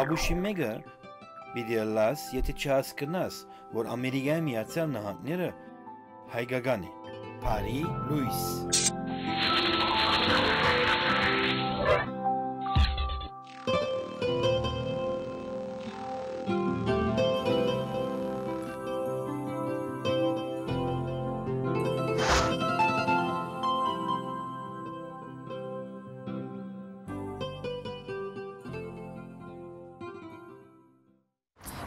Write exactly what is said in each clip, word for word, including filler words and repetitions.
Աբուշիմեգը պիտի լաս, եթե չհասկնաս, որ Ամերիկայի Միացյալ Նահանգները հայկական է, Փարի Լուիս։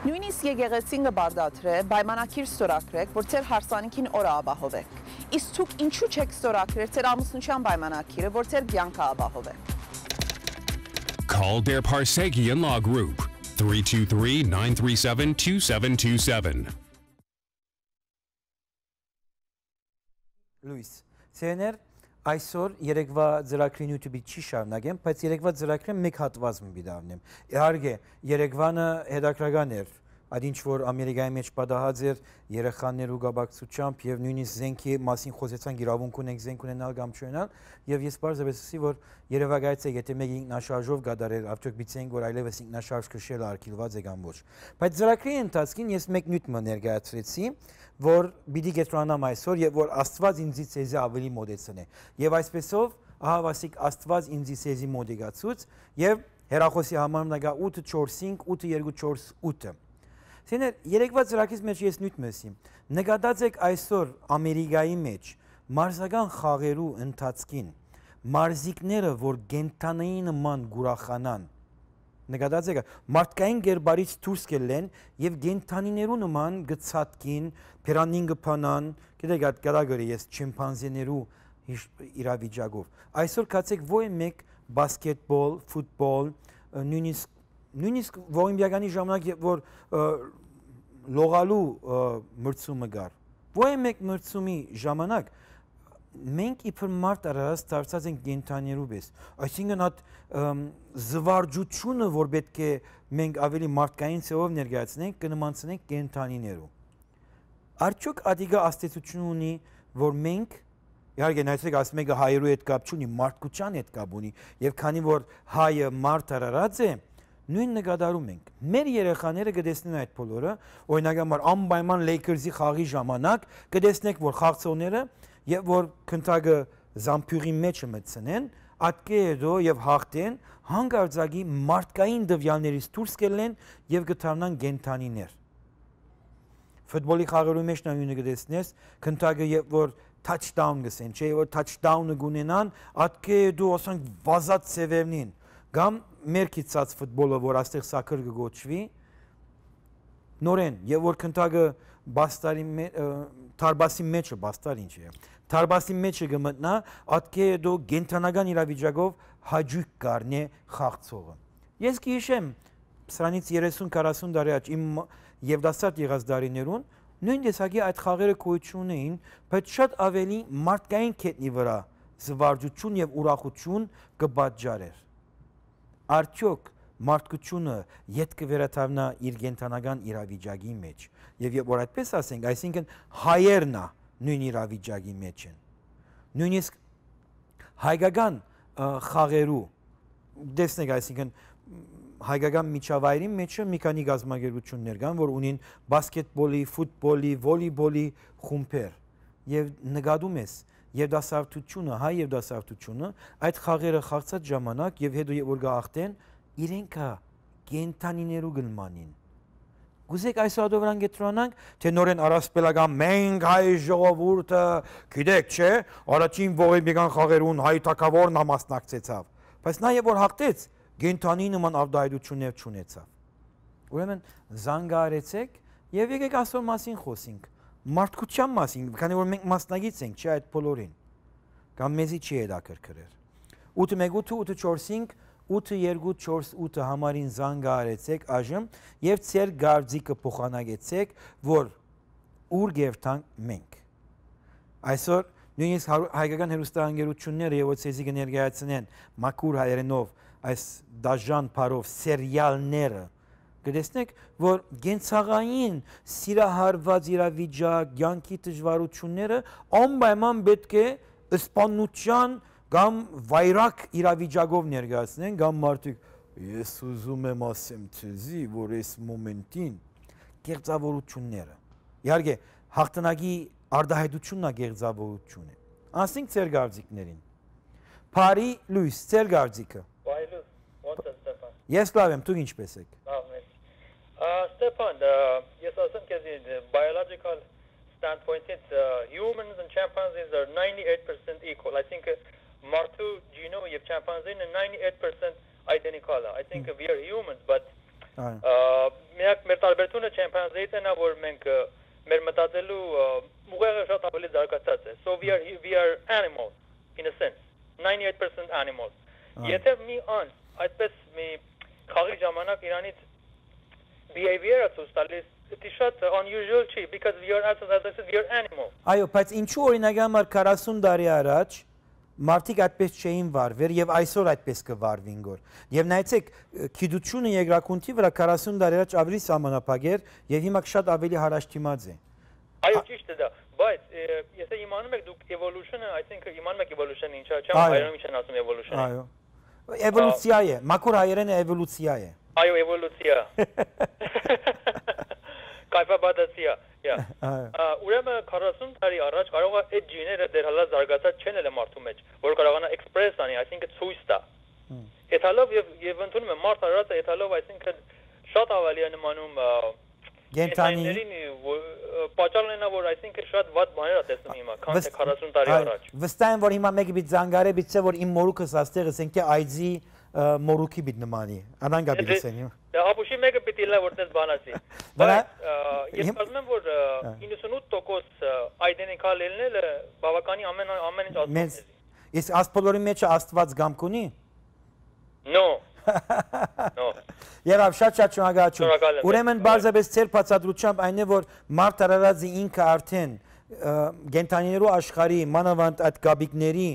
Նույնիսկ եկեղեցին կբարդատրե, պայմանագիր ստորագրեք, որ ձեր հարսանիքին օրը ապահովեք։ Իսկ դուք ինչու չեք ստորագրել ձեր ամուսնության պայմանագիրը, որ ձեր կյանքը ապահովեք։ Call their Parsegian Law Group three two three, nine three seven, two seven two seven. Լուիս, սեներ այսօր երեկվա ծրագրի YouTube-ի չի շարունակեմ, բայց երեկվա ծրագրին մեկ հատված մի դառնեմ։ Իհարկե, երեկվանը հետաքրքրական էր, այդ ինչ որ Ամերիկայի մեջ պատահած էր երեխաներու գաբակցությամբ եւ նույնիսկ զենքի մասին խոսեցան, իրավունք ունենք զենք ունենալ կամ չունենալ, եւ ես բարձրացի ասի, որ երևակայից է, եթե մեկ ինքնաշարժով գդարել, արդյոք բիցենք, որ այլևս ինքնաշարժ քշելը արգելված է կամ ոչ։ Բայց ծրագրի ընթացքին ես մեկ նյութ ներկայացրեցի, որ պիտի կենտրոնանամ այսօր եւ որ Աստված ինձից ցեզի ավելի մոդեցնե։ Եվ այսպեսով ահավասիկ Աստված ինձից ցեզի մոդիգացուց եւ հերախոսի համարում նկա ութ չորս cinc ութ երկու չորս ութ։ Սեներ երեկվա ծրագրից մեջ ես նյութ մեսի։ Նկատած եք այսօր Ամերիկայի մեջ մարզական խաղերու ընթացքին մարզիկները, որ գենթանայի նման գուրախանան, նկատած եք մարդկային գերբարից դուրս կելեն եւ գենթանիներու նման գծածքին, փերանին կփանան, գիտեք այդ գարագորի ես չիմպանզիներու իրավիճակով։ Այսօր կացեք ոյ մեկ բասկետբոլ, ֆուտբոլ, նույնիսկ նույնիսկ օլիմպիադանի ժամանակ որ լողալու մրցումը գար։ Ոյ մեկ մրցումի ժամանակ մենք իբր մարդ արարած դարձած ենք գենթանիներու պես։ Այսինքն այդ զվարճությունը, որ պետք է մենք ավելի մարդկային ցեղով ներկայացնենք, կնմանցնենք գենթանիներու։ Արդյոք ադիգա աստեցություն ունի, որ մենք իհարկե նայեցեք ասում եք հայերու հետ կապ չունի, մարդկության հետ կապ ունի, եւ քանի որ հայը մարդ արարած է, նույն նկատառում ենք։ Մեր երեխաները կտեսնեն այդ բոլորը, օրինակ համար անպայման Lakers-ի խաղի ժամանակ կտեսնեք, որ խաղացողները եւ որ քնթագը զամփյուղի մեջը մտցնեն, ատկեդո եւ հաղթեն, հանգարձակի մարդկային դվյալներից դուրս կելեն եւ կդառնան գենթանիներ։ Ֆուտբոլի խաղերու մեջ նույնը կտեսնես, քնթագը եւ որ touchdown գսեն, չէ՞ որ touchdown-ը գունենան, ատկեդո ասենք վազած սևերնին, կամ մերքիցած ֆուտբոլը, որ աստեղ սակր կգոչվի, նորեն, եւ որ քնթագը բաստարի թարբասի մեջը, բաստար ինչ է, թարբասի մեջը կմտնա, ատկեդո գենթանական իրավիճակով հաջույք կառնե խաղցողը։ Ես կհիշեմ սրանից երեսուն քառասուն տարի առաջ իմ Եվդասարտ եղած դարիներուն նույն տեսակի այդ խաղերը գոյություն ունեին, բայց շատ ավելի մարդկային կետնի վրա զվարճություն եւ ուրախություն կպատճառեր։ Արդյոք մարդկությունը յետ կվերաթարնա իր գենթանական իրավիճակի մեջ եւ որ այդպես ասենք, այսինքն հայերն է նույն իրավիճակի մեջ են։ Նույնիսկ հայկական խաղերու տեսնեք, այսինքն հայկական միջավայրի մեջը մի քանի գազམ་ագերություններ կան, որ ունին բասկետբոլի, ֆուտբոլի, վոլեյբոլի խումբեր եւ նկատում ես Եվդասարտությունը, հայ Եվդասարտությունը այդ խաղերը խաղացած ժամանակ եւ հետո որ գախտեն իրենքա գենթանիներու գլմանին։ Գուզեք այս ադովրան գետրոնանք, թե նորեն առասպելական մենք հայ ժողովուրդը, գիտեք, չէ, առաջին ողեբեգան խաղերուն հայ թակավորն համասնակցեցավ, բայց նաեւ որ հաղթեց, գենթանի նման ավդայդություններ չունեցավ։ Ուրեմն զանգարեցեք եւ եկեք այսօր մասին խոսենք։ Մարդկության մասին, քանի որ մենք մասնագից ենք, չէ՞ այդ բոլորին։ Կամ մեզի չի հետաքրքրեր։ ութ մեկ ութ ութ չորս cinc ութ երկու չորս ութ համարին զանգարեցեք այժմ եւ ծեր գարձիկը փոխանակեցեք, որ ուր գերտանք մենք։ Այսօր նույնիսկ հայկական հեռուստաընկերությունները եւ ոցեզի կներկայացնեն մաքուր հայերենով այս դաժան բարով սերիալները, կտեսնեք, որ գենցաղային սիրահարված իրավիճակ, կյանքի դժվարությունները անպայման պետք է սպանության կամ վայրակ իրավիճակով ներկայացնեն, կամ մարդիկ ես ուզում եմ ասեմ ցեզի, որ այս մոմենտին կեղծավորությունները։ Իհարկե, հաղթանակի արտահայտությունն է կեղծավորությունը։ Ասենք ծեր գարձիկներին։ Փարի լույս, ծեր գարձիկը։ Վայլուս, ո՞նց է Ստեփան։ Ես լավ եմ, դուք ինչպես եք։ Լավ եմ։ Ստեփան, ես ասեմ քեզ biological standpoint-ից humans and chimpanzees are ninety-eight percent equal. I think մարդու genome եւ chimpanzee-ն ninety-eight percent identical. I think we are humans, but միակ մեր տարբերությունը chimpanzee-ից է նա, որ մենք մեր մտածելու ուղեղը շատ ավելի զարգացած է. So we are we are animals in a sense. ninety-eight percent animals. Եթե մի անձ այդպես մի խաղի ժամանակ իրանից behavior-ը ցույց տալիս, դա շատ unusual չի, because we are as I said we are animals. Այո, բայց ինչու օրինակ համար քառասուն տարի առաջ մարդիկ այդպես չէին վարվել եւ այսօր այդպես կվարվին գոր։ Եվ նայեցեք, գիտությունը երկրակունքի վրա քառասուն տարի առաջ ավելի սահմանափակ էր եւ հիմա շատ ավելի հարաշտիմաց է։ Այո, ճիշտ է դա, բայց եթե իմանում եք դուք evolution-ը, I think իմանում եք evolution-ը ինչա, չեմ հայերեն ինչ են ասում evolution-ը։ Այո։ Էվոլյուցիա է, մաքուր հայերենը էվոլյուցիա է։ Այո, էվոլյուցիա։ Կայֆաբադացիա, yeah։ Ուրեմն քառասուն տարի առաջ կարող է այդ ջիները դեռ հալա զարգացած չեն էլ մարդու մեջ, որ կարողանա express անի, I think ցույց տա։ Էթալով եւ եւ ընդունում եմ մարդ արարածը էթալով, I think շատ ավելի է նմանում գենտանիներին, պատճառն է որ I think շատ վատ բաներ է տեսնում հիմա, քան թե քառասուն տարի առաջ։ Վստահ եմ, որ հիմա մեկը բիտ զանգարե բիցե, որ իմ մորուքս աստեղ ասենք թե այձի մորուքի բիտ նմանի։ Անան գաբի լսեն։ Դա ապուշի մեկը պիտի լա որտես բանասի։ Բայց ես ասում եմ, որ իննսունութ տոկոս identical լինելը բավականի ամեն ամեն ինչ ասում է։ Իսկ աստպոլորի մեջ Աստված գամք ունի։ No. No. Եղավ շատ շատ շնորհակալություն։ Ուրեմն բարձրապես ծեր բացատրությամբ այն է, որ մարդ արարածի ինքը արդեն գենտանիներու աշխարհի մանավանդ այդ գաբիկների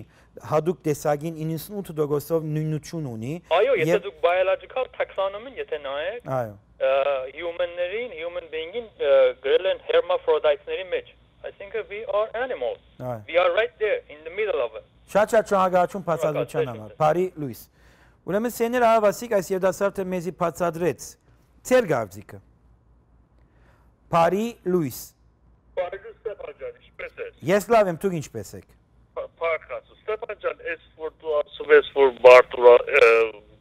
հadoop տեսագին իննսունութ տոկոսով նույնություն ունի։ Այո, եթե դուք biological taxonomy-ն եթե նայեք, այո, human-ներին, human being-ին գրել են hermaphrodites-ների մեջ։ I think we are animals. We are right there in the middle of it. Շատ շատ շնորհակալություն բացատրության համար։ Բարի լույս։ Ուրեմն սեներ ահավասիկ այս երդասարտը մեզի բացատրեց ծեր գարձիկը։ Բարի լույս։ Բարի լույս Ստեփան ջան, ինչպես եք։ Ես լավ եմ, դուք ինչպես եք։ Փառքացու Ստեփան ջան, այս որ դու ասում ես, որ Մարտուրա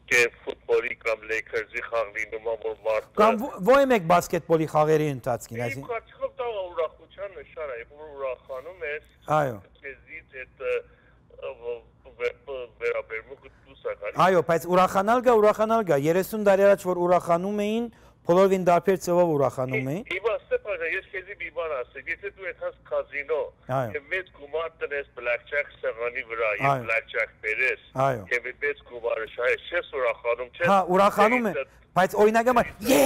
կե ֆուտբոլի կամ Lakers-ի խաղի նման որ Մարտը Կամ ո՞յ եք բասկետբոլի խաղերի ընթացքին, այսինքն։ Իմ կարծիքով դա ուրախության նշան է, որ ուրախանում ես։ Այո։ Քեզից այդ վերաբերմունքը դուսական։ Այո, բայց ուրախանալ գա, ուրախանալ գա, երեսուն տարի առաջ որ ուրախանում էին, բոլորին դարբեր ծովով ուրախանում էին։ Իվա Ստեփան, ես քեզի մի բան ասեմ, եթե դու այդպես կազինո եւ մեծ գումար տնես blackjack սեղանի վրա եւ blackjack բերես եւ մեծ գումարը շահես, չես ուրախանում, չես։ Հա, ուրախանում է, բայց օրինակ համար ե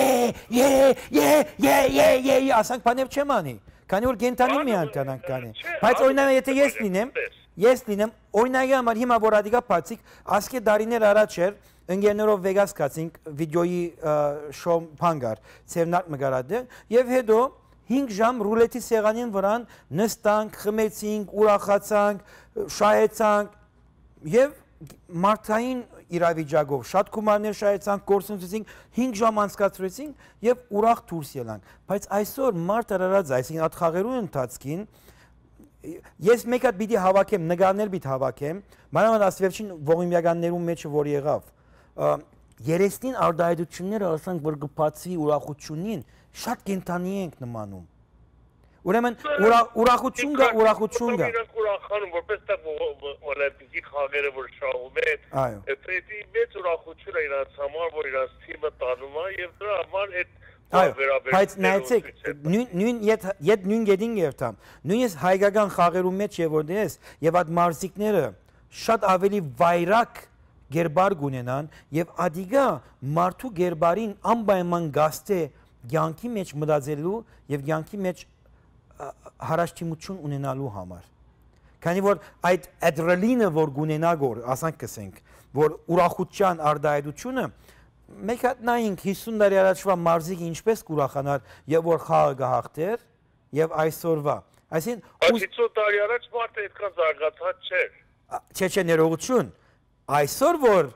ե ե ե ե ե ասանք բաներ չեմ անի, քանի որ գենտանին մի անկանանք կանի։ Բայց օրինակ եթե ես լինեմ, ես լինեմ, օրինակ համար հիմա որ ադիգա բացիկ, ասկե դարիներ առաջ էր ընկերներով Վեգաս կացինք վիդեոյի շոու փանգար ծերնակ մգարադը եւ հետո հինգ ժամ ռուլետի սեղանին վրան նստանք, խմեցինք, ուրախացանք, շահեցանք եւ մարդային իրավիճակով շատ գումարներ շահեցանք, կորցնեցինք, հինգ ժամ անցկացրեցինք եւ ուրախ դուրս ելանք։ Բայց այսօր մարդ արարած, այսինքն այդ խաղերու ընթացքին ես մեկ հատ պիտի հավաքեմ, նկարներ պիտի հավաքեմ, մանավանդ ասվերջին ողիմյականներում մեջ որ եղավ երեսնին արդայդությունները ասանք, որ գպացվի ուրախությունին, շատ կենտանի ենք նմանում։ Ուրեմն ուրախություն գա, ուրախություն գա։ Իրանք ուրախանում, որպես դա օլիմպիկի խաղերը որ շահում են, պետք մեծ ուրախություն է իրանց համար, որ իրանց թիմը տանում է եւ դրա համար այդ Բայց նայեցեք, նույն ետ նույն գեդին երթամ, նույնիսկ հայկական խաղերու մեջ եւ որ դես եւ այդ մարզիկները շատ ավելի վայրակ գերբար գունենան եւ ադիգա մարդու գերբարին անպայման գաստե ցանկի մեջ մտածելու եւ ցանկի մեջ հարաշտիմություն ունենալու համար։ Քանի որ այդ ադրենալինը որ գունենա գոր, ասանք կսենք, որ ուրախության արդայդությունը մեկ հատ նայինք հիսուն տարի առաջվա մարզիկը ինչպես կուրախանար եւ որ խաղը գահաղթեր եւ այսօրվա այսինքն հիսուն տարի առաջ մարդը այդքան զարգացած չէր չէ չէ ներողություն այսօր որ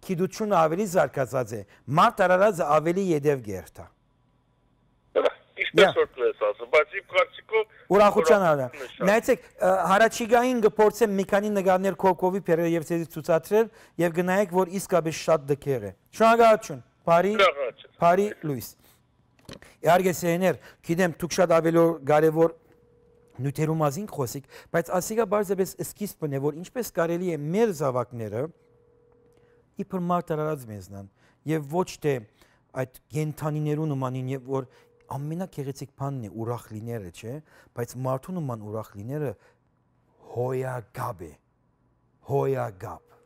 գիտությունը ավելի զարգացած է մարդ արարածը ավելի յետև գերտա Ինչպես որ դες ասում, բայց իմ կարծիքով ուրախության արա։ Նայեցեք, հարաճիգային գործեմ մի քանի նկարներ Կոկովի Պերերը եւ ցեզի ցուցադրել եւ գնայեք, որ իսկապես շատ դքեր է։ Շնորհակալություն։ Բարի բարի լույս։ Իհարկե սեներ, գիտեմ դուք շատ ավելի կարևոր նյութերու մասին խոսիկ, բայց ասիկա բարձրապես սկիզբն է, որ ինչպես կարելի է մեր զավակները իբր մարդ արարած մեզնան եւ ոչ թե այդ գենթանիներու նմանին եւ որ ամենագեղեցիկ բանն է ուրախ լինելը, չէ, բայց մարդու նման ուրախ լինելը հոյագապ է, հոյագապ։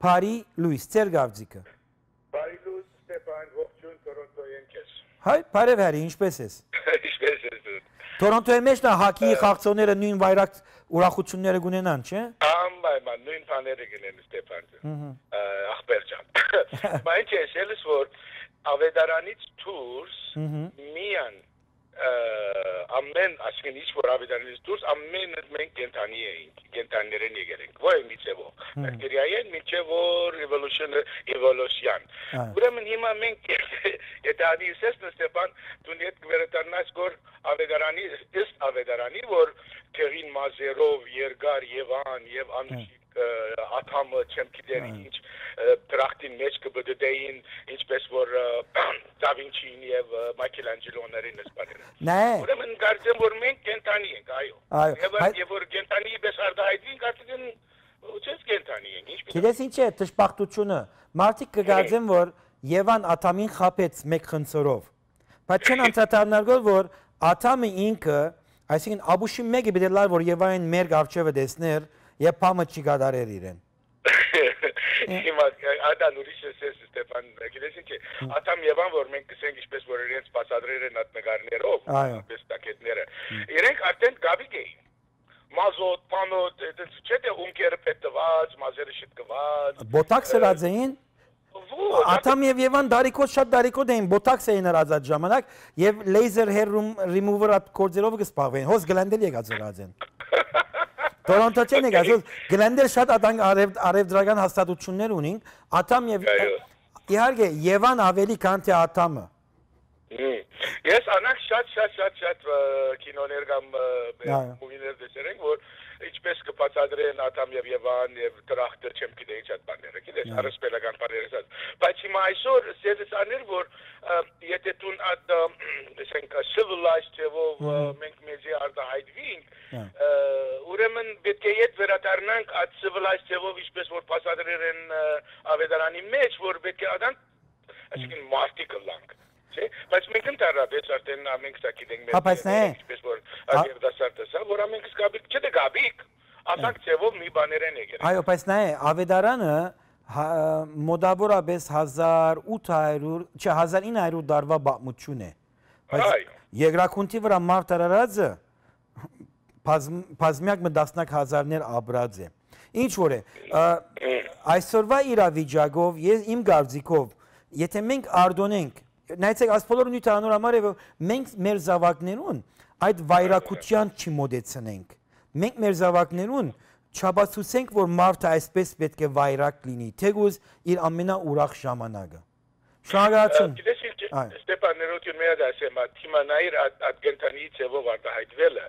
Բարի լույս, ծեր գավձիկը։ Բարի լույս, Ստեփան, ողջույն Տորոնտոյի ընկեր։ Հայ, բարև հերի, ինչպես ես։ Ինչպես ես դու։ Տորոնտոյի մեջ նա հակի խաղացողները նույն վայրակ ուրախությունները կունենան, չէ։ Անպայման նույն բաները կունեն Ստեփան։ Ախպեր ջան։ Բայց ես ելս որ Ավետարանից դուրս միան ամեն ասկեն ինչ որ ավետարանից դուրս ամեն մենք կենտանի էինք կենտաներեն եկել ենք ոյ միցեվով բակտերիային միցև որ evolution evolution ուրեմն հիմա մենք եթե անիսես Ստեփան դու net կվերտանաս որ ավետարանի ըստ ավետարանի որ թերին մազերով երկար Եվան եւ անուշիկ աթամը չեմ գիտեր ինչ դրախտին մեջ կբդդեին ինչպես որ դա Վինչին եւ Մայքելանջելոներին ասպարերը Նայ ուրեմն կարծեմ որ մենք կենտանի ենք այո եւ որ կենտանի պես արդահայտվին կարծեմ ուչես կենտանի ենք ինչպես Գիտես ինչ է դժբախտությունը մարդիկ կգարձեն որ Եվան աթամին խապեց մեկ խնձորով բայց չեն անդրադառնալ որ աթամը ինքը այսինքն աբուշի մեկը բերելար որ Եվային մեր արչեվը դեսներ Եվ պամը չի գադարեր իրեն։ Հիմա ադան ուրիշ է Ստեփան, գիտես ինչ է, ատամ Եվան որ մենք կսենք ինչպես որ իրենց բացադրել են այդ նկարներով, այնպես տակետները։ Իրենք արդեն գաբիկ էին։ Մազոտ, պանոտ, չէ՞ թե ունկերը պետված, մազերը շտկված։ Բոտաքս հրած էին։ Ատամ եւ Եվան դարիքոտ շատ դարիքոտ էին, բոտաքս էին հրած այդ ժամանակ եւ լեյզեր hair remover at կորձերով կսպաղվեին, հոս գլանդել եկած հրած են։ Տորոնտո չեն եկած, գլանդել շատ արևդրական հաստատություններ ունին, ատամ եւ իհարկե Եվան ավելի քան թե ատամը։ Ես անակ շատ շատ շատ շատ կինոներ կամ մուվիներ տեսել ենք, որ ինչպես կբացատրեն ատամ եւ Եվան եւ դրախտը չեմ գիտեի շատ բաները, գիտես, առսպելական բաներ ասած։ Բայց հիմա այսօր սեզես աներ, որ եթե դու այդ ասենք civilized թվով մենք մեզի արտահայտվենք, ուրեմն պետք է իդ վերադառնանք այդ civilized թվով ինչպես որ բացատրել են ավետարանի մեջ, որ պետք է ադան այսինքն մարտիկ լանք Չէ, բայց մենք ընդհանրապես արդեն ամենք սա գիտենք մեր ինչպես որ ադերդասարտը սա, որ ամենք սկաբիկ, չէ՞ թե գաբիկ, ասանք ծևով մի բաներ են եկել։ Այո, բայց նայ, ավետարանը մոտավորապես հազար ութ հարյուր, չէ, հազար ինը հարյուր դարվա պատմություն է։ Բայց Երկրաքունթի վրա մարդ արարածը բազմյակ մի տասնյակ հազարներ ապրած է։ Ինչ որ է, այսօրվա իրավիճակով, իմ կարծիքով, եթե մենք արտոնենք Նայեցեք, այս բոլորը նույն անոր համար է, որ մենք մեր զավակներուն այդ վայրակության չմոդեցնենք։ Մենք մեր զավակներուն չաբացուցենք, որ մարդը այսպես պետք է վայրակ լինի, թեկուզ իր ամենաուրախ ժամանակը։ Շնորհակալություն։ Գիտես ինչ, Ստեփան ներողություն մեծ ասեմ, թիմանայր այդ գենթանի ծևով արտահայտվելը,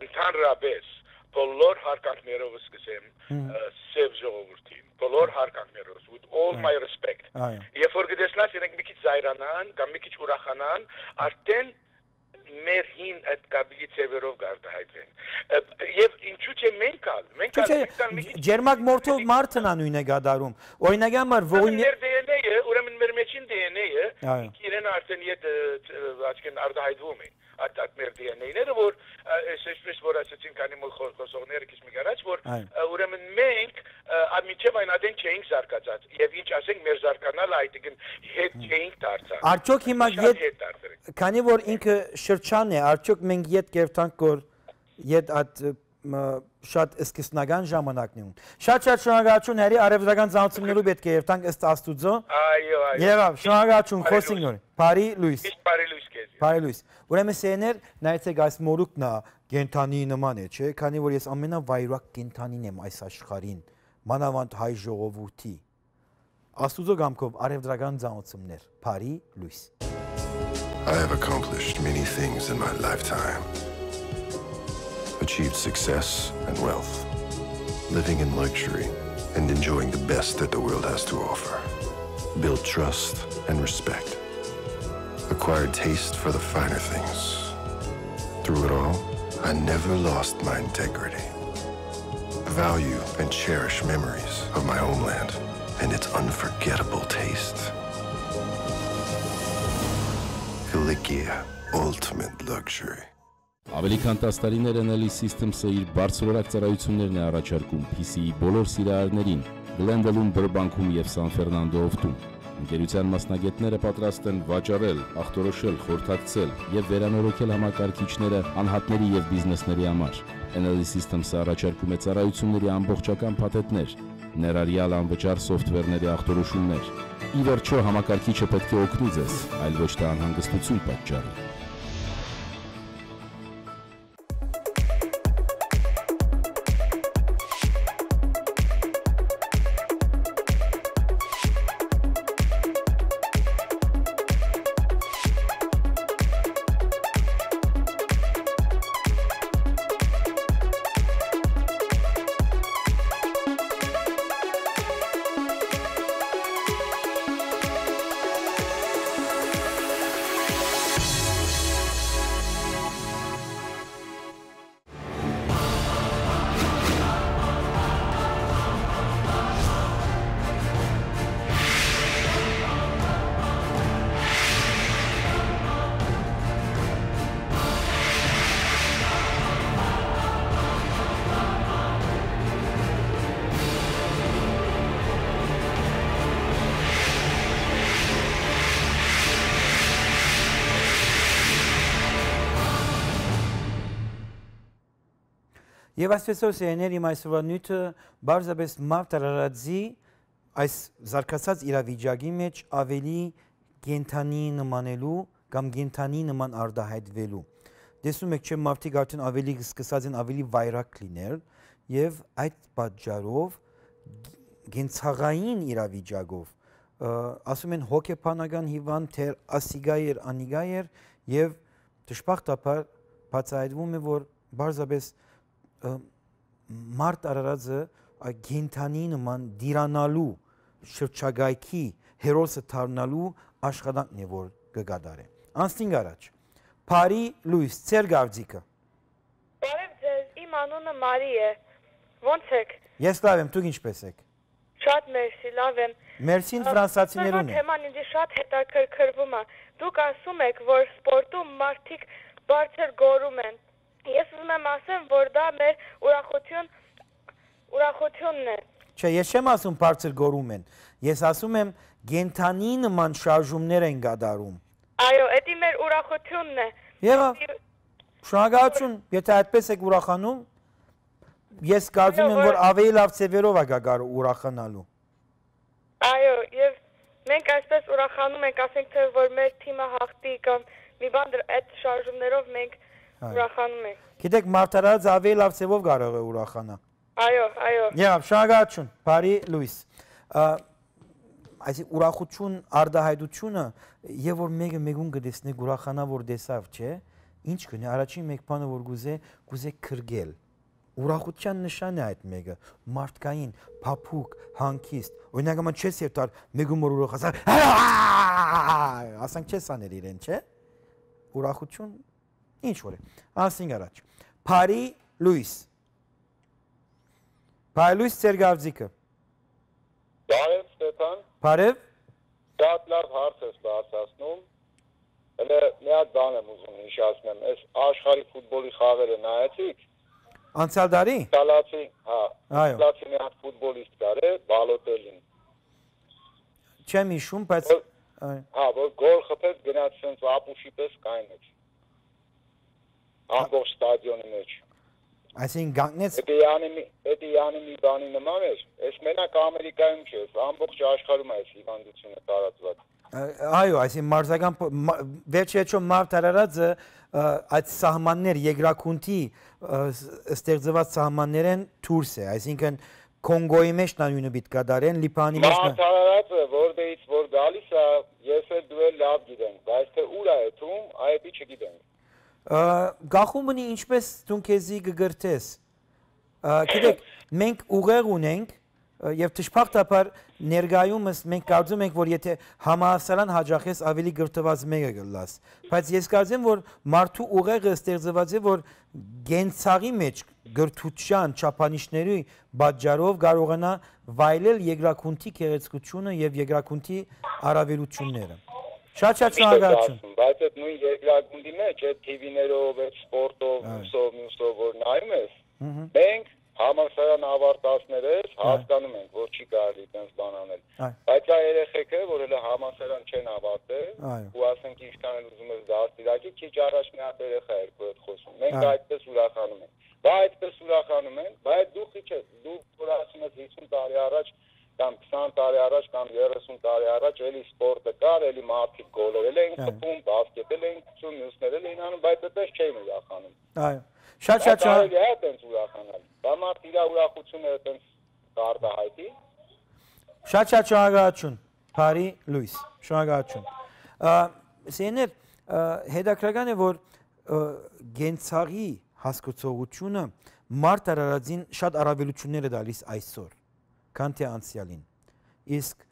ընդհանրապես բոլոր հարկանքներով սկսեմ սև ժողովրդին, բոլոր հարկանքներով, with all my respect։ Երբ որ գտեսնաս իրենք մի քիչ զայրանան կամ մի քիչ ուրախանան, արդեն մեր հին այդ կաբիլի ծևերով գարտահայտվեն։ Եվ ինչու՞ չէ մենք ալ, մենք ալ ջերմակ մորթով մարդն է նույնը գադարում։ Օրինակ համար ողին մեր դի են էը, ուրեմն մեր մեջին դի են էը, իրեն արդեն իդ աչքեն արտահայտվում են։ At at մեր դի են էները որ այսպես որ ասեցին քանի մոլ խոսողները քիչ մի գարաջ որ ուրեմն մենք ամիջև այն ադեն չենք զարգացած եւ ինչ ասենք մեր զարգանալը այդքան հետ չենք դարձած Արդյոք հիմա քանի որ ինքը շրջան է արդյոք մենք իդ կերտանք որ իդ այդ շատ սկսնական ժամանակն ունի։ Շատ-շատ շնորհակալություն հերի արևելական ծանոթություններով պետք է երթանք ըստ Աստուծո։ Այո, այո։ Եվ շնորհակալություն խոսենք նոր։ Բարի լույս։ Միշտ բարի լույս քեզ։ Բարի լույս։ Ուրեմն սեներ նայեցեք այս մորուքն է կենթանի նման է, չէ՞, քանի որ ես ամենավայրակ կենթանին եմ այս աշխարհին, մանավանդ հայ ժողովրդի։ Աստուծո գամքով արևելական ծանոթություններ։ Բարի լույս։ I have accomplished many things in my lifetime. Achieved success and wealth, living in luxury and enjoying the best that the world has to offer. Built trust and respect. Acquired taste for the finer things. Through it all, I never lost my integrity. Value and cherish memories of my homeland and its unforgettable taste. Kilikia, ultimate luxury. Ավելի քան տասը տարիներ N L E Systems-ը իր բարձրորակ ծառայություններն է առաջարկում P C-ի բոլոր սիրահարներին Glendale-ում, Burbank-ում եւ San Fernando-ում։ Ընկերության մասնագետները պատրաստ են վաճառել, ախտորոշել, խորհրդակցել եւ վերանորոգել համակարգիչները անհատների եւ բիզնեսների համար։ N L E Systems-ը առաջարկում է ծառայությունների ամբողջական փաթեթներ, ներառյալ անվճար սոֆթվերների ախտորոշումներ։ Ի վերջո համակարգիչը պետք է օգնի ձեզ, այլ ոչ թե անհանգստություն պատճառի։ Եվ այսպեսով սեներ իմ այսօրվա նյութը բարձրապես մարդ արարածի այս զարգացած իրավիճակի մեջ ավելի կենթանի նմանելու կամ կենթանի նման արտահայտվելու։ Տեսնում եք, չէ՞ մարդիկ արդեն ավելի սկսած են ավելի վայրակ լինել եւ այդ պատճառով կենցաղային իրավիճակով ասում են հոգեբանական հիվանդ թեր ասիգայեր անիգայեր եւ դժբախտաբար բացահայտվում է որ բարձրապես մարդ արարածը գենթանի նման դիրանալու շրջագայքի հերոսը դառնալու աշխատանքն է որ կգադարե։ Անցնենք առաջ։ Բարի լույս, ծեր գավձիկը։ Բարև ձեզ, իմ անունը Մարի է։ Ո՞նց եք։ Ես լավ եմ, դուք ինչպես եք։ Շատ մերսի, լավ եմ։ Մերսին ֆրանսացիներուն է։ Թեման ինձ շատ հետաքրքրվում է։ Դուք ասում եք, որ սպորտում մարդիկ բարձր գորում են։ Ես ուզում եմ ասեմ, որ դա մեր ուրախություն, ուրախությունն է։ Չէ, ես չեմ ասում բարձր գորում են։ Ես ասում եմ գենթանի նման շարժումներ են կատարում։ Այո, դա մեր ուրախությունն է։ Եղավ։ Շնորհակալություն, եթե այդպես եք ուրախանում, ես կարծում եմ, որ ավելի լավ ծևերով է գար ուրախանալու։ Այո, եւ մենք այսպես ուրախանում ենք, ասենք թե որ մեր թիմը հաղթի կամ մի բան այդ շարժումներով մենք ուրախանում ենք։ Գիտեք, մարդարած ավելի լավ ծևով կարող է ուրախանա։ Այո, այո։ Եվ շնորհակալություն, բարի լույս։ Այսի ուրախություն, արտահայտությունը եւ որ մեկը մեկուն կտեսնի ուրախանա որ դեսավ, չէ՞։ Ինչ կնի, առաջին մեկ բանը որ գուզե, գուզե քրգել։ Ուրախության նշանն է այդ մեկը, մարդկային, փափուկ, հանգիստ։ Օրինակ ամ չես երթար մեկում որ ուրախացար։ Ասանք չես անել իրեն, չէ՞։ Ուրախություն ինչ որ է։ Անցնենք առաջ։ Բարի լույս։ Բարի լույս ծեր գավձիկը։ Բարև Ստեփան։ Բարև։ Շատ լավ հարց ես բարձրացնում։ Հələ մի հատ բան եմ ուզում հիշեցնեմ, այս աշխարհի ֆուտբոլի խաղերը նայեցիք։ Անցյալ տարի։ Իտալացի, հա։ Այո։ Իտալացի մի հատ ֆուտբոլիստ կար է, Բալոտելին։ Չեմ հիշում, բայց հա, որ գոլ խփեց գնաց sense ապուշի պես կայնեց։ Ամբողջ ստադիոնի մեջ։ Այսինքն գանգնեց Էդի յանի մի բանի նման էր, այս մենակ Ամերիկայում չէ, ամբողջ աշխարհում է այս հիվանդությունը տարածված։ Այո, այսինքն մարզական վերջերս մարդ արարածը այդ սահմաններ երկրակունթի ստեղծված սահմաններեն դուրս է, այսինքն Կոնգոյի մեջ նույնը պիտի կատարեն, Լիբանանի մեջ մարդ արարածը որտեղից որ գալիս է, ես էլ դու էլ լավ գիտենք, բայց թե ուր է եթում, այդ չգիտենք։ Գախում ունի ինչպես դու քեզի կգրտես։ Գիտեք, մենք ուղեղ ունենք եւ դժբախտաբար ներգայումս մենք կարծում ենք, որ եթե համահասարան հաջախես ավելի գրտված մեկը գլաս, բայց ես կարծեմ, որ մարդու ուղեղը ստեղծված է, որ գենցաղի մեջ գրթության չափանիշների պատճառով կարողանա վայելել երկրակունթի գեղեցկությունը եւ երկրակունթի առավելությունները։ Շատ-շատ շնորհակալություն։ Բայց այդ նույն երկրակունթի մեջ այդ թի վիներով, այդ սպորտով, մուսով, մուսով որ նայում ես, մենք համալսարան ավարտածներս հասկանում ենք, որ չի կարելի այդպես բան անել։ Բայց այ երեխեքը, որ հələ համալսարան չեն ավարտել, ու ասենք ինչքան էլ ուզում ես դաստիարակի, քիչ առաջ մի հատ երեխա երկու հետ խոսում։ Մենք այդպես ուրախանում ենք։ Բայց այդպես ուրախանում ենք, բայց դու քիչ ես, դու որ ասում ես հիսուն տարի առաջ կամ քսան տարի առաջ կամ երեսուն տարի առաջ էլի սպորտը կար, էլի մարդիկ գոլերել էին խփում, բասկետել էին խփում, մյուսներել էին անում, բայց այդպես չէին ուրախանում։ Այո։ Շատ-շատ շնորհակալ եմ այդպես ուրախանալ։ Դա մարդ իր ուրախությունը այդպես կարտահայտի։ Շատ-շատ շնորհակալություն։ Բարի լույս։ Շնորհակալություն։ Սեներ հետաքրքրական է, որ գենցաղի հասկացողությունը մարդ արարածին շատ առավելություններ է տալիս այսօր, քան թե անցյալին։ Իսկ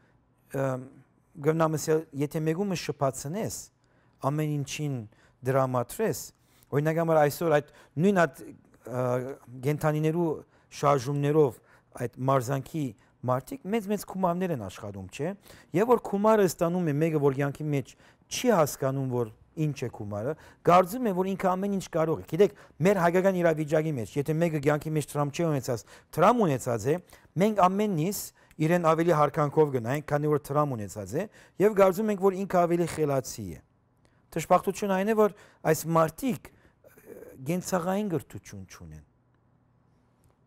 գնամսել, եթե մեկումը շփացնես, ամեն ինչին դրամատրես, օրինակ համար այսօր այդ նույն այդ գենթանիներու շարժումներով այդ մարզանքի մարդիկ մեծ-մեծ կումարներ են աշխատում, չէ՞։ Եվ որ կումարը ստանում է մեկը, որ յանքի մեջ չի հասկանում, որ ինչ է կումարը, կարծում է, որ ինքը ամեն ինչ կարող է։ Գիտեք, մեր հայկական իրավիճակի մեջ, եթե մեկը յանքի մեջ տրամ չի ունեցած, տրամ ունեցած է, մենք ամենից իրեն ավելի հարկանքով գնայինք, քանի որ տրամ ունեցած է, եւ կարծում ենք, որ ինքը ավելի խելացի է։ Դժբախտությունը այն է, որ այս մարդիկ գենցաղային գրթություն չունեն։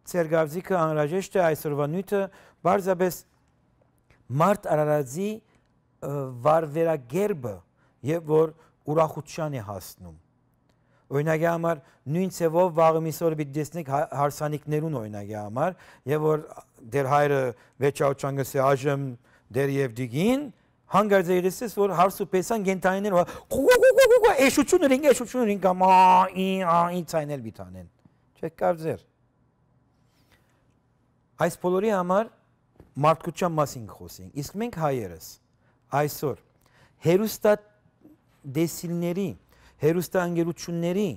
Ձեր գազիկը անհրաժեշտ է այսօրվա նյութը բարձրապես մարդ արարածի վարվերագերբը եւ որ ուրախության է հասնում։ Օրինակի համար նույն ցևով վաղը միսօր պիտի տեսնեք հարսանիքներուն օրինակի համար եւ որ դեր հայրը վեճաուճանգս է այժմ դեր եւ դիգին հանգարց երեսես որ հարսու պեսան գենտայիներ էշուչունը ռինգ էշուչունը ռինգ կամա ի ցայնել բիթանեն չեք կարծեր այս բոլորի համար մարդկության մասին խոսենք իսկ մենք հայերս այսօր հերոստատ դեսիլների հերոստանգերությունների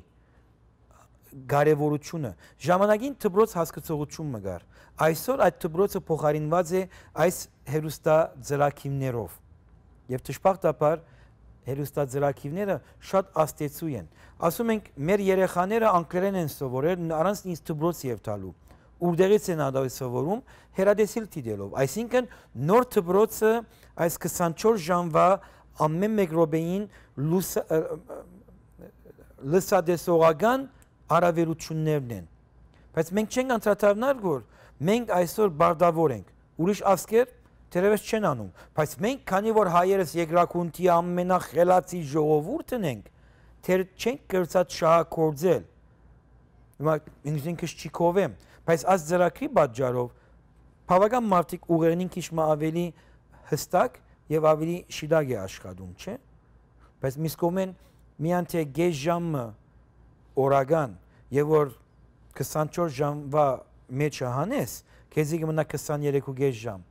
կարևորությունը ժամանակին դբրոց հասկացողություն մգար այսօր այդ դբրոցը փոխարինված է այս հերոստա ծրակիվներով եւ դժբախտաբար հերոստա ծրակիվները շատ աստեցու են ասում ենք մեր երեխաները անգլերեն են սովորել առանց ինձ դբրոց եւ տալու Ուրդեղից են ադավի սովորում հերադեսիլ տիդելով, այսինքն նոր դբրոցը այս քսանչորս ժամվա ամեն մեկ րոպեին լսադեսողական առավելություններն են։ Բայց մենք չենք անդրադառնալ, որ մենք այսօր բարդավոր ենք, ուրիշ ասկեր թերևս չեն անում, բայց մենք, քանի որ հայերս երկրակունթի ամենախելացի ժողովուրդն ենք, թեր չենք կրծած շահագործել։ Հիմա ինքնինքս չի կովեմ, բայց այս ծրագրի պատճառով բավական մարդիկ ուղերնին քիչ ավելի հստակ եւ ավելի շիդագ է աշխատում, չէ՞։ Բայց միս կողմեն միան թե գեշ ժամը օրական եւ որ քսանչորս ժամվա մեջ հանես, քեզի կմնա քսաներեք գեշ ժամ։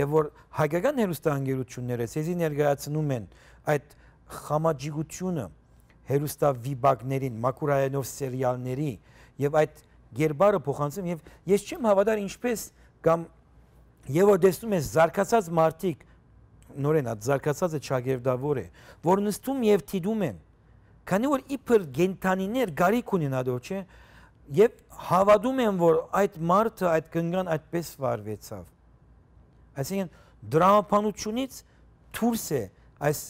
Եվ որ հայկական հերոստանգերությունները ցեզի ներկայացնում են այդ խամաճիգությունը հերոստավիբակներին, մակուրայենով սերիալների եւ այդ Գերբարը փոխանցում եւ ես չեմ հավատար ինչպես կամ եւ որ տեսնում ես զարգացած մարդիկ նորեն այդ զարգացածը ճագերդավոր է որ նստում եւ թիդում են քանի որ իբր գենտանիներ գարիք ունեն ադոր չէ եւ հավատում են որ այդ մարդը այդ կնգան այդպես վարվեցավ այսինքն դրամապանությունից դուրս է այս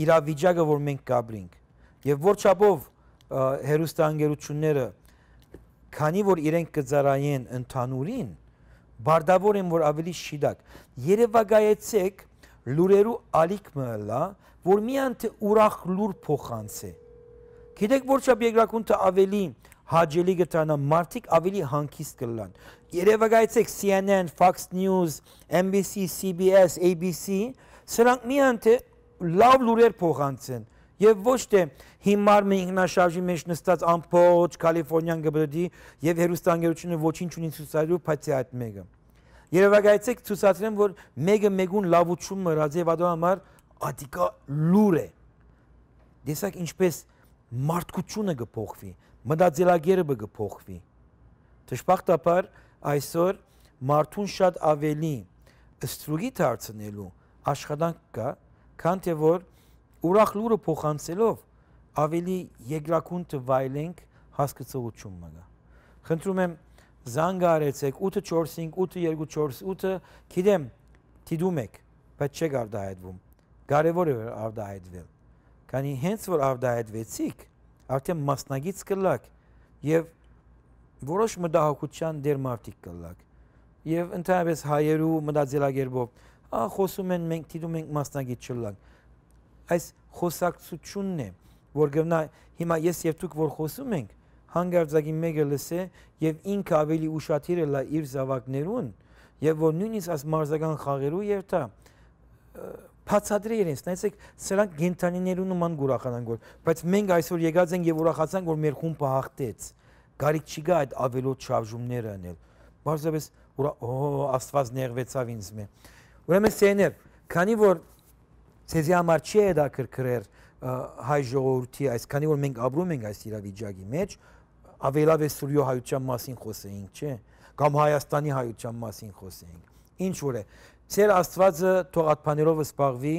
իրավիճակը որ մենք կապրինք եւ որ չափով հերոստանգերությունները քանի որ իրենք կծարայեն ընդհանուրին, բարդավոր են, որ ավելի շիդակ։ Երևակայեցեք լուրերու ալիք մըլա, որ միան թե ուրախ լուր փոխանց է։ Գիտեք որչապ երկրակունքը ավելի հաջելի գտանա, մարդիկ ավելի հանգիստ կլան։ Երևակայեցեք C N N, Fox News, N B C, C B S, A B C, սրանք միան թե լավ լուրեր փոխանցեն։ Եվ ոչ թե հիմար մի ինքնաշարժի մեջ նստած ամբողջ Կալիֆոռնիան գբրդի եւ հերոստանգերությունը ոչինչ ունի ցուցադրելու, բայց այդ մեկը։ Երևակայեցեք ցուցադրեն, որ մեկը մեկուն լավություն մռած եւ ադո համար ադիկա լուր է։ Դեսակ ինչպես մարդկությունը կփոխվի, մտածելակերպը կփոխվի։ Դժբախտաբար այսօր մարդուն շատ ավելի ստրուգի դարձնելու աշխատանք կա, քան թե որ ուրախ լուրը փոխանցելով ավելի երկրակունքը վայելենք հասկացողություն մնա։ Խնդրում եմ զանգ արեցեք ութ չորս հինգ ութ երկու չորս ութ, գիտեմ դիդում եք, բայց չեք արդահայտվում։ Կարևոր է արդահայտվել։ Քանի հենց որ արդահայտվեցիք, արդեն մասնագից կլաք եւ որոշ մտահոգության դեր մարդիկ կլաք։ Եվ ընդհանրապես հայերու մտածելակերպով, ա խոսում են մենք դիտում ենք մասնագիտ չլանք։ Այս խոսակցությունն է, որ գտնա հիմա ես եւ դուք որ խոսում ենք, հանգարձակի մեկը լսե եւ ինքը ավելի ուշադիր է լա իր զավակներուն եւ որ նույնիսկ այս մարզական խաղերու երթա բացատրի իրենց, նայեցեք, սրանք գենթանիներու նման ուրախանան գոր, բայց մենք այսօր եկած ենք եւ ուրախացանք, որ մեր խումբը հաղթեց։ Գարիք չի գա այդ ավելոց շարժումները անել։ Բարձրապես ուրա օ աստված ներվեցավ ինձ մե։ Ուրեմն սեներ, քանի որ ցեզի համար չի է դա կրկրեր հայ ժողովրդի այս, քանի որ մենք ապրում ենք այս իրավիճակի մեջ, ավելավ է Սուրյո հայության մասին խոսեինք, չէ՞, կամ Հայաստանի հայության մասին խոսեինք։ Ինչ որ է, Ձեր Աստվածը թող ատփաներով սպաղվի,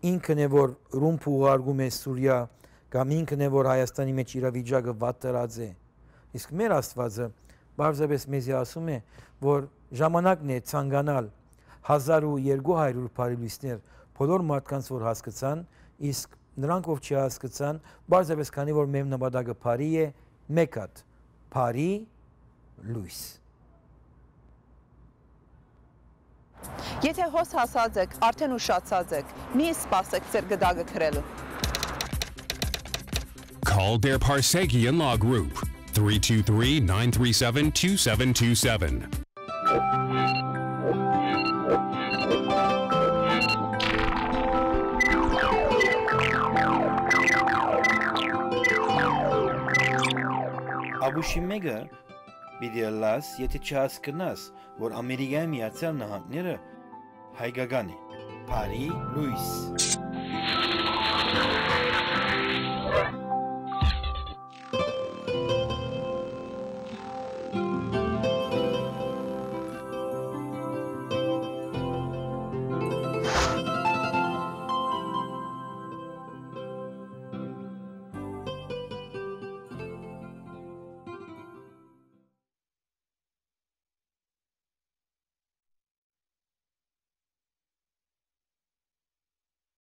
ինքն է որ ռումբ ուղարկում է Սուրիա, կամ ինքն է որ Հայաստանի մեջ իրավիճակը վատ դրած է։ Իսկ մեր Աստվածը բարձրապես մեզի ասում է, որ ժամանակն է ցանկանալ հազար ու երկու հարյուր բարելույսներ բոլոր մարդկանց որ հասկացան, իսկ նրանք ով չհասկացան, բարձրապես քանի որ մեր նպատակը բարի է, մեկ հատ բարի լույս։ Եթե հոս հասած եք, արդեն ուշացած եք, մի սպասեք ձեր գդակը քրելու։ Call their Parsegian Law Group, three two three, nine three seven, two seven two seven. Աբուշիմեգը պիտի լաս, եթե չհասկնաս, որ Ամերիկայի Միացյալ Նահանգները հայկական է, բարի լույս։